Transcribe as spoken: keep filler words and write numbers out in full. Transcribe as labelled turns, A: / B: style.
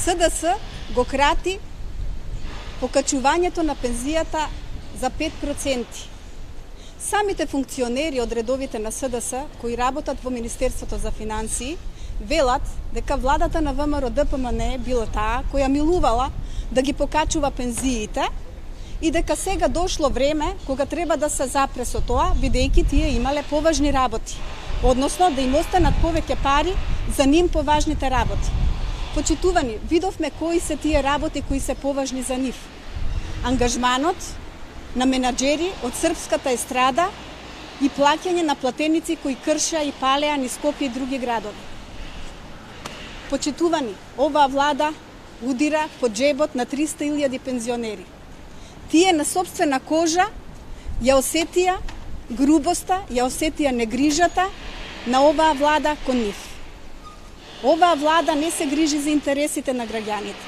A: С Д С го крати покачувањето на пензијата за пет проценти. Самите функционери од редовите на С Д С кои работат во Министерството за финансии велат дека владата на В М Р Д П М Н била таа која милувала да ги покачува пензиите и дека сега дошло време кога треба да се запре со тоа, бидејќи тие имале поважни работи, односно да им останат повеќе пари за ним поважните работи. Почитувани, видовме кои се тие работи кои се поважни за нив. Ангажманот на менаџери од српската естрада и плаќање на платеници кои кршеа и палеа низ Скопје и други градови. Почитувани, оваа влада удира по џебот на триста илјади пензионери. Тие на сопствена кожа ја осетија грубоста, ја осетија негрижата на оваа влада кон нив. Оваа влада не се грижи за интересите на граѓаните.